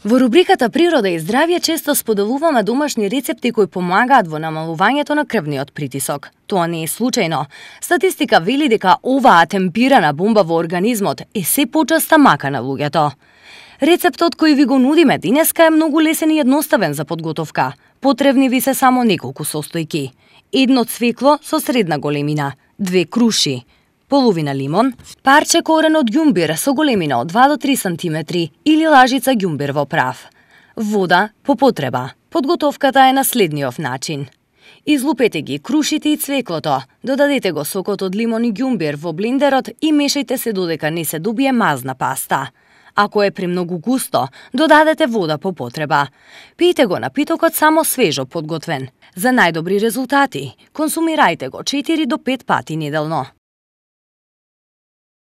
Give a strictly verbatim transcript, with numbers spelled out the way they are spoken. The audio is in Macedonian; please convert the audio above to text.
Во рубриката Природа и здравје често споделуваме домашни рецепти кои помагаат во намалувањето на крвниот притисок. Тоа не е случајно. Статистика вели дека оваа темпирана бомба во организмот е се почеста мака на луѓето. Рецептот кој ви го нудиме денеска е многу лесен и едноставен за подготовка. Потребни ви се само неколку состојки. Едно цвекло со средна големина, две круши, половина лимон, парче корен од ѓумбир со големина од два до три сантиметри или лажица ѓумбир во прав. Вода по потреба. Подготовката е на следниот начин. Излупете ги крушите и цвеклото, додадете го сокот од лимон и ѓумбир во блендерот и мешајте се додека не се добие мазна паста. Ако е премногу густо, додадете вода по потреба. Пијте го напитокот само свежо подготвен. За најдобри резултати, консумирајте го четири до пет пати неделно.